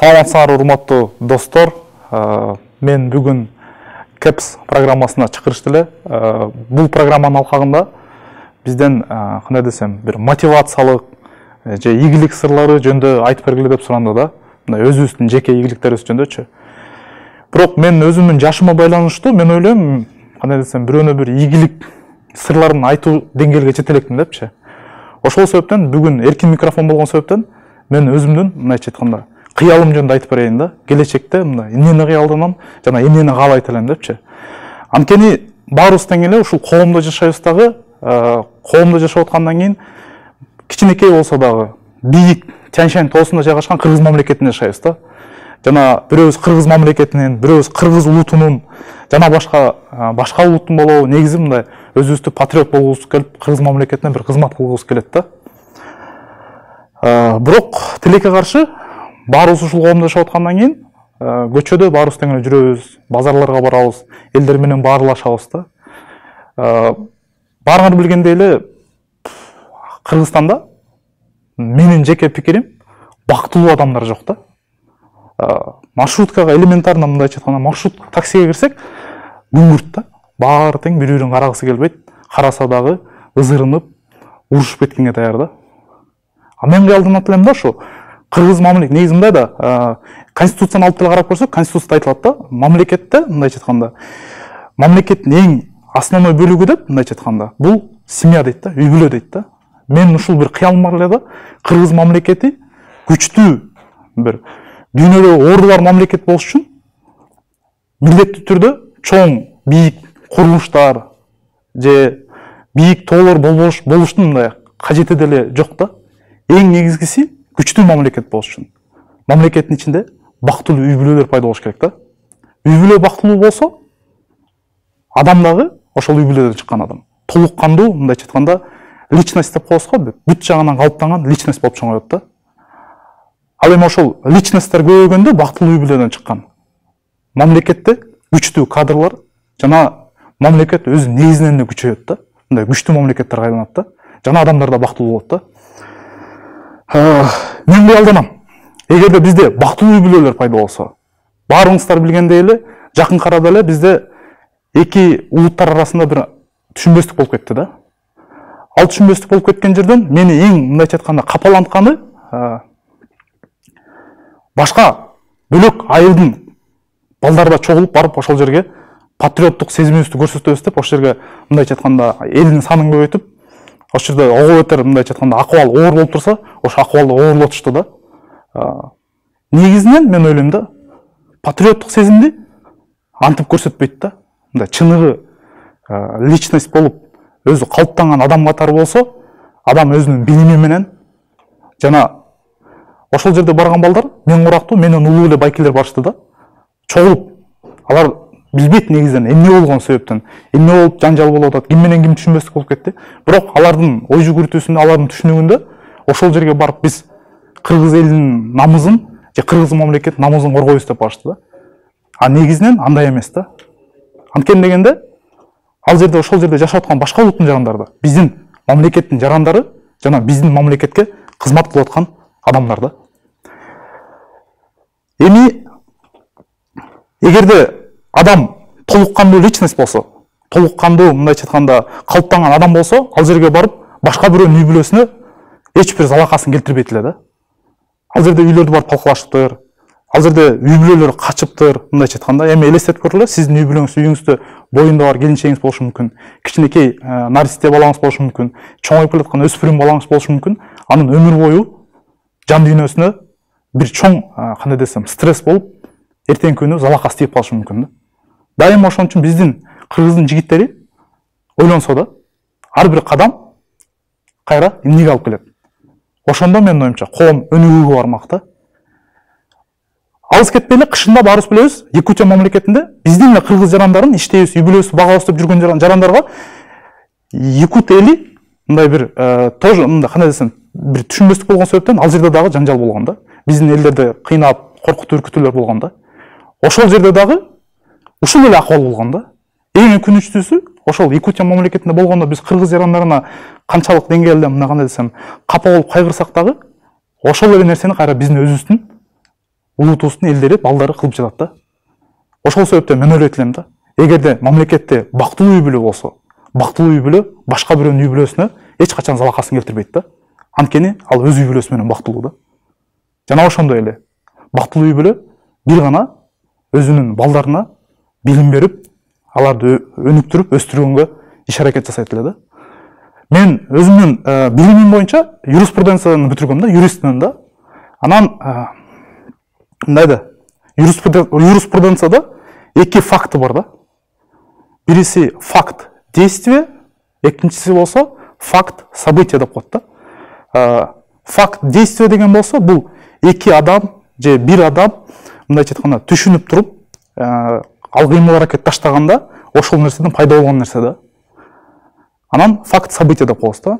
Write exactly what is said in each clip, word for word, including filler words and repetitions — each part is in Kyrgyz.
Саламатсыңар, урматтуу достор. Мен бүгүн кепс программасына чакырышты эле. Бул программанын алкагында бизден кандай десем, бир мотивациялык же ийгилик сырлары жөнүндө айтып бергиле деп суранды да. Мындай өзүбүздүн жеке ийгиликтерибиз жөнүндөчү. Бирок мен өзүмдүн жашыма байланыштуу, мен ойлойм, кандай десем, бирөөнө бир ийгилик сырларын айтуу деңгээлге жете элекмин депчи. Ошол себептен бүгүн эркин микрофон болгон себептен мен өзүмдүн мындайча айтканда кыялым жөнүндө айтып берейин да. Келечекте мындай эмнени кыялданам жана эмнени каалайт элем депчи. Анткени баарыбыз тең эле ушул коомдо жашайбыз дагы, коомдо жашап аткандан кийин кичинекей болсо дагы бийик Тянь-Шань тоосунда жайгашкан кыргыз мамлекетинде жашайбыз да. Жана бирөөбүз кыргыз мамлекетинин, бирөөбүз кыргыз улутунун жана башка башка улуттун болобу негизи мындай өзүбүздү патриот болгубуз келип, кыргыз мамлекетине бир кызмат кылгыбыз келет да. Бирок тилекке каршы баарыбыз ушул коомдо жашап аткандан кийин көчөдө баарыбыз тең эле жүрөбүз, базарларга барабыз, элдер менен баарлашабыз да. Баарыңар билгендей эле Кыргызстанда менин жеке пикирим бактылуу адамдар жок да. Маршруткага элементарно мындайча айтканда маршрут таксиге кирсек күңүрт да. Баары тең бири-бирин карагысы келбейт, караса дагы ызырынып, урушуп кеткенге даяр да. А мен кыялданат элем да ушу кыргыз мамлекет негизи мындай да, конституцияны алып деле карап көрсөк, конституцияда айтылат да, мамлекетте мындайча айтканда мамлекеттин эң основной бөлүгү деп мындайча айтканда бул семья дейт да, үй бүлө дейт да. Мен ушул бир кыялым бар эле да, кыргыз мамлекети күчтүү бир дүйнөдө орду бар мамлекет болуш үчүн милдеттүү түрдө чоң бийик курулуштар же бийик тоолор болуштун мындай кажети деле жок да. Эң негизгиси күчтүү мамлекет болуш үчүн мамлекеттин ичинде бактылуу үй бүлөлөр пайда болуш керек да. Үй бүлө бактылуу болсо, адам дагы ошол үй бүлөдөн чыккан адам толук кандуу мындайча айтканда личность деп коебуз го, бүт жагынан калыптанган личность болуп чоңоет да. Ал эми ошол личностьтер көбөйгөндө бактылуу үй бүлөдөн чыккан мамлекетте күчтүү кадрлар жана мамлекет өз негизинен эле күчөйөт да. Мындай күчтүү мамлекеттер кайланат да. Жана адамдар да бактылуу болот да. Мен кыялданам. Эгерде бизде бактылуу үй бүлөлөр пайда болсо, баарыңыздар билгендей эле жакын арада эле бизде эки улуттар арасында бир түшүнбөстүк болуп кетти да. Ал түшүнбөстүк болуп кеткен жерден мени эң мындайча айтканда капалантканы башка бөлөк айылдын балдарда чогулуп барып ошол жерге патриоттук сезимибизди көрсөтөбүз деп ошол жерге мындайча айтканда элдин санын көбөйтүп, ошол жерде ого бетер мындайча айтканда акыбал оор болуп турса, ошо акыбалды оорлотушту да. Негизинен мен ойлойм да, патриоттук сезимди антип көрсөтпөйт да. Мындай чыныгы личность болуп, өзү калыптанган адам катары болсо, адам өзүнүн билими менен жана ошол жерде барган балдар мен курактуу, менен улуу эле байкелер барышты да. Чогулуп, алар билбейт негизинен эмне болгон себептен, эмне болуп жанжал болуп атат, ким менен ким түшүнбөстүк болуп кетти. Бирок алардын ой жүгүртүүсүндө, алардын түшүнүгүндө ошол жерге барып биз кыргыз элинин намысын же кыргыз мамлекет намысын коргойбуз деп барышты да. А негизинен андай эмес да. Анткени дегенде ал жерде ошол жерде жашап аткан башка улуттун жарандары да, биздин мамлекеттин жарандары жана биздин мамлекетке кызмат кылып аткан адамдар да. Эми эгерде адам толук кандуу личность болсо, толук кандуу мындайча айтканда калыптанган адам болсо, ал жерге барып башка бирөөнүн үй бүлөсүнө эч бир залакасын келтирбейт эле да. Ал жерде үйлөрдү барып талкалашыптыр, ал жерде үй бүлөлөр качыптыр, мындайча айтканда. Эми элестетип көргүлө, сиздин үй бүлөңүз, үйүңүздө боюнда бар келинчегиңиз болушу мүмкүн, кичинекей наристе балаңыз болушу мүмкүн, чоңоюп келаткан өспүрүм балаңыз болушу мүмкүн. Анын өмүр бою жан дүйнөсүнө бир чоң кандай десем стресс болуп, эртеңки күнү залакасы тийип калышы мүмкүн да. Дайыма ошон үчүн биздин кыргыздын жигиттери ойлонсо да, ар бир кадам кайра эмнеге алып келет. Ошондо менин оюмча коом өнүгүүгө бармак да. Алыс кетпей эле кышында баарыбыз билебиз, Якутия мамлекетинде биздин эле кыргыз жарандарын иштейбиз, үй бүлөбүздү багабыз деп жүргөн жарандарга якут эли мындай бир тоже мындай кандай десем бир түшүнбөстүк болгон себептен ал жерде дагы жанжал болгон да. Биздин элдерди кыйнап, коркутуп үркүтүүлөр болгон да. Ошол жерде дагы ушул эле акыбал болгон да. Эң өкүнүчтүүсү ошол Якутия мамлекетинде болгондо биз кыргыз жарандарына канчалык деңгээлде мына кандай десем капа болуп кайгырсак дагы ошол эле нерсени кайра биздин өзүбүздүн улутубуздун элдери балдары кылып жатат да. Ошол себептен мен ойлойт элем да, эгерде мамлекетте бактылуу үй бүлө болсо, бактылуу үй бүлө башка бирөөнүн үй бүлөсүнө эч качан залакасын келтирбейт да. Анткени ал өз үй бүлөсү менен бактылуу да. Жана ошондой эле бактылуу үй бүлө бир гана өзүнүн балдарына билим берип, аларды өнүктүрүп, өстүргөнгө иш аракет жасайт эле да. Мен өзүмдүн билимим боюнча юриспруденцияны бүтүргөм да, юристмин да. Анан мындай да, юриспруденцияда эки факты бар да. Бириси факт действие, экинчиси болсо факт событие деп коет да. Факт действие деген болсо бул эки адам же бир адам мындайча айтканда түшүнүп туруп, ал кыймыл аракет таштаганда ошол нерседен пайда болгон нерсе да. Анан факт событие деп коебуз да.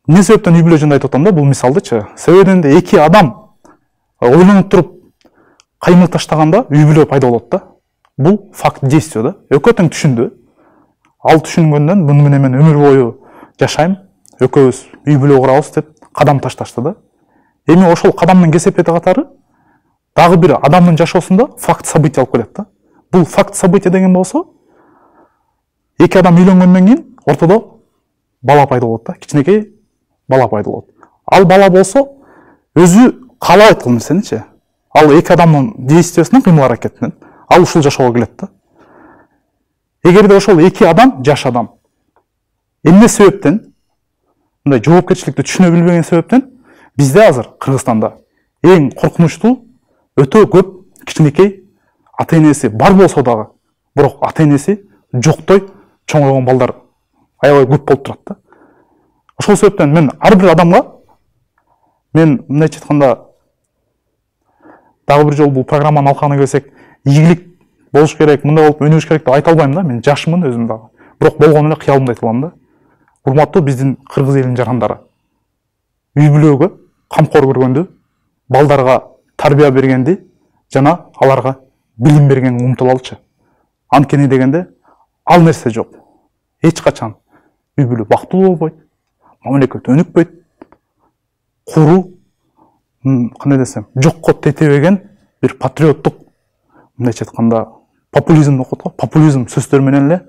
Эмне себептен үй бүлө жөнүндө айтып атам да, бул мисалдычы. Себебинен эки адам ойлонуп туруп кыймыл таштаганда үй бүлө пайда болот да. Бул факт действие да. Экөө тең түшүндү. Ал түшүнгөндөн муну менен мен өмүр бою жашайм, экөөбүз үй бүлө курабыз деп кадам ташташты да. Эми ошол кадамдын кесепети катары дагы бир адамдын жашоосунда факт событие алып келет да. Бул факт событие деген болсо, эки адам үйлөнгөндөн кийин ортодо бала пайда болот да, кичинекей бала пайда болот. Ал бала болсо өзү каалабайт кыл нерсеничи. Ал эки адамдын действиесинен, кыймыл аракетинен ал ушул жашоого келет да. Эгерде ошол эки адам жаш адам эмне себептен, мындай жоопкерчиликти түшүнө билбеген себептен бизде азыр Кыргызстанда эң коркунучтуу өтө көп кичинекей ата энеси бар болсо дагы, бирок ата энеси жоктой чоңойгон балдар аябай көп болуп турат да. Ошол себептен мен ар бир адамга, мен мындайча айтканда дагы бир жолу бул программанын алкагына келсек, ийгилик болуш керек, мындай болуп өнүгүш керек деп айта албайм да. Мен жашмын өзүм дагы. Бирок болгону эле кыялымды айтып алам да. Урматтуу биздин кыргыз элинин жарандары, үй бүлөгө камкор көргөндү, балдарга тарбия бергенди жана аларга билим бергенге умтулалычы. Анткени дегенде ал нерсе жок. Эч качан үй бүлө бактылуу болбойт, мамлекет өнүкпөйт, куру, кандай десем, жокко тетебеген бир патриоттук, мындайча айтканда популизм деп коет го, популизм сөздөр менен эле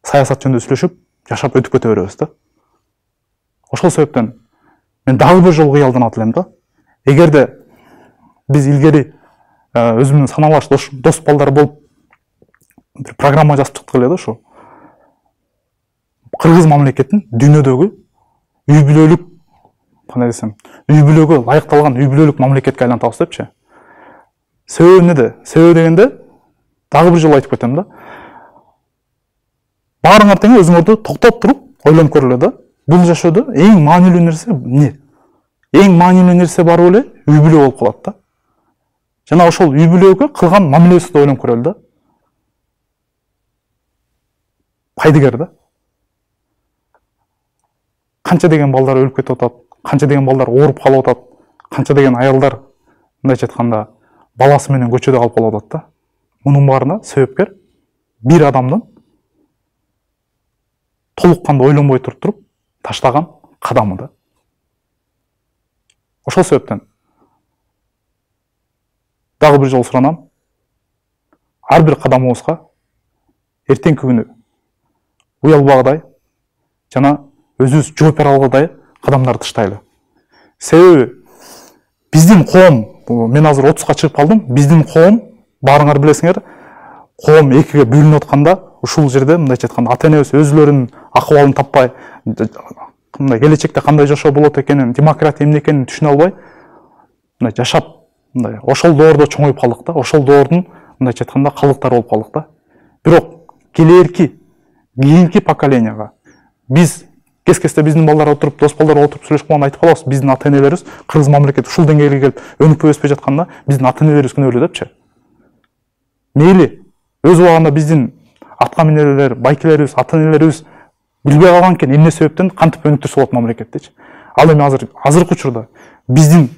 саясат жөнүндө сүйлөшүп, жашап өтүп кете беребиз да. Ошол себептен мен дагы бир жолу кыялданат элем да. Эгерде биз илгери өзүмдүн саналаш дос балдар болуп бир программа жазып чыктык эле да, ушу кыргыз мамлекетин дүйнөдөгү үй бүлөлүк, кандай десем, үй бүлөгө ылайыкталган үй бүлөлүк мамлекетке айлантабыз депчи. Себеби эмнеде? Себеби дегенде дагы бир жолу айтып кетем да. Баарыңар тең өзүңөрдү токтоп туруп ойлонуп көргүлө да. Бул жашоодо эң маанилүү нерсе эмне? Эң маанилүү нерсе барып эле үй бүлө болуп калат да. Жана ошол үй бүлөгө кылган мамилебизди ойлонуп көрөлү да. Пайдыгер да. Канча деген балдар өлүп кетип атат, канча деген балдар ооруп калып атат, канча деген аялдар мындайча айтканда баласы менен көчөдө калып калып атат да. Мунун баарына себепкер бир адамдын толук кандуу ойлонбой туруп туруп таштаган кадамы да. Ошол себептен дагы бир жолу суранам, ар бир кадамыбызга эртеңки күнү уялбагыдай жана өзүбүз жооп бере алгыдай кадамдарды таштайлы. Себеби биздин коом, мен азыр отузга чыгып калдым, биздин коом, баарыңар билесиңер, коом экиге бөлүнүп атканда, ушул жерде мындайча айтканда ата энебиз өзүлөрүнүн акыбалын таппай, мындай келечекте кандай жашоо болот экенин, демократия эмне экенин түшүнө албай, мындай жашап, мындай ошол доордо чоңоюп калдык да, ошол доордун мындайча айтканда калдыктары болуп калдык да. Бирок келээрки, кийинки поколенияга биз кес-кесте биздин балдар отуруп, дос балдар отуруп сүйлөшүп калганда айтып калабыз, биздин ата энелерибиз кыргыз мамлекети ушул деңгээлге келип өнүкпөй өспөй жатканда биздин ата энелерибиз күнөөлүү депчи. Мейли, өз убагында биздин атка минерлер, байкелерибиз, ата энелерибиз билбей калган экен эмне себептен кантип өнүктүрсө болот мамлекеттичи. Ал эми азыр азыркы учурда биздин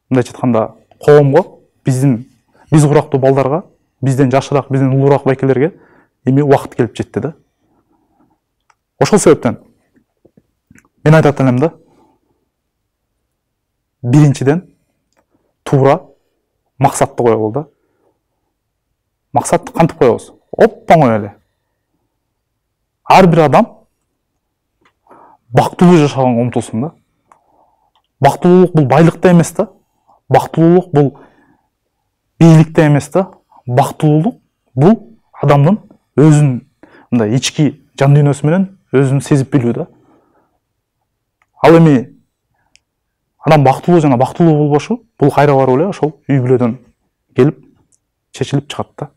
мындайча айтканда коомго, биздин биз курактуу балдарга, бизден жашыраак, бизден улуураак байкелерге эми убакыт келип жетти да. Ошол себептен мен айтат элем да, биринчиден туура максатты коелу да. Максатты кантип коебуз? Оп оңой эле. Ар бир адам бактылуу жашаганга умтулсун да. Бактылуулук бул байлыкта эмес да. Бактылуулук бул бийликте эмес да. Бактылуулук бул адамдын өзүн мындай ички жан дүйнөсү менен өзүн сезип билүү да. Ал эми адам бактылуу жана бактылуу болбошу бул кайра барып эле ошол үй бүлөдөн келип чечилип чыгат да.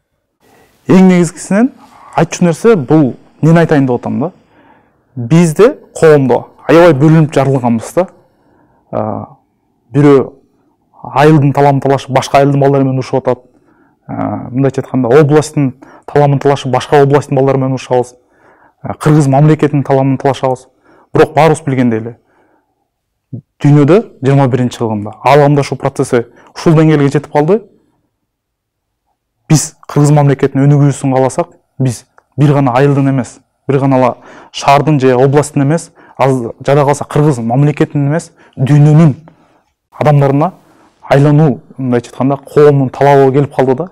Эң негизгисинен айтчу нерсе бул эмнени айтайын деп атам да. Бизде коомдо аябай бөлүнүп жарылганбыз да. Бирөө айылдын таламын талашып башка айылдын балдары менен урушуп атат. Мындайча айтканда областтын таламын талашып башка областтын балдары менен урушабыз. Кыргыз мамлекетинин таламын талашабыз. Бирок баарыбыз билгендей эле дүйнөдө жыйырма биринчи кылымда аламдашуу процесси ушул деңгээлге жетип калды. Биз Кыргыз мамлекетинин өнүгүүсүн кааласак, биз бир гана айылдын эмес, бир гана ала шаардын же областтын эмес, жада калса Кыргыз мамлекетинин эмес, дүйнөнүн адамдарына айлануу, мындайча айтканда, коомдун талабы келип калды да.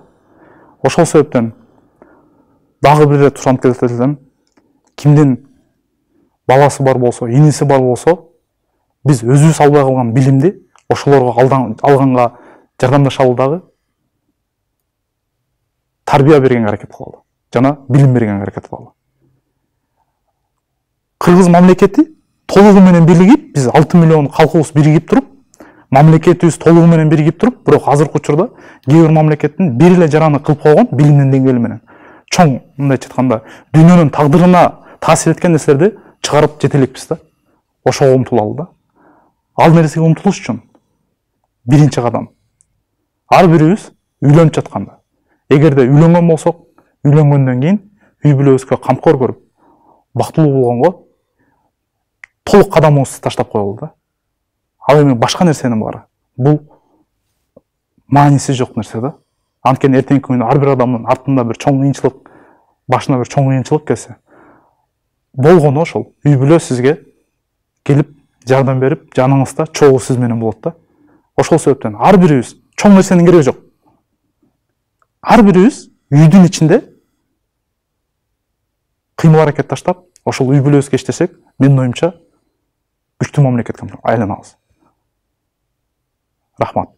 Ошол себептен дагы бир ирет ушантып кетсем, кимдин баласы бар болсо, иниси бар болсо, биз өзүбүз албай калган билимди ошолорго алганга жардамдашалы дагы, тарбия бергенге аракет кылалы жана билим бергенге аракет кылалы. Кыргыз мамлекети толугу менен биригип, биз алты миллион калкыбыз биригип туруп, мамлекетибиз толугу менен биригип туруп, бирок азыркы учурда кээ бир мамлекеттин бир эле жараны кылып койгон билимдин деңгээли менен чоң, мындайча айтканда, дүйнөнүн тагдырына таасир эткен нерселерди чыгарып жете элекпиз да. Ошого умтулалы да. Ал нерсеге умтулуш үчүн биринчи кадам ар бирибиз үйлөнүп жатканда, эгерде үйлөнгөн болсок, үйлөнгөндөн кийин үй бүлөбүзгө камкор көрүп, бактылуу болгонго толук кадамыбызды таштап коелу да. Ал эми башка нерсенин баары бул мааниси жок нерсе да. Анткени эртеңки күнү ар бир адамдын артында бир чоң кыйынчылык, башына бир чоң кыйынчылык келсе, болгону ошол үй бүлө сизге келип жардам берип, жаныңызда чогуу сиз менен болот да. Ошол себептен ар бирибиз чоң нерсенин кереги жок. Ар бирибиз үйдүн ичинде кыймыл аракет таштап, ошол үй бүлөбүзгө иштесек, менин оюмча күчтүү мамлекетке айланабыз. Рахмат.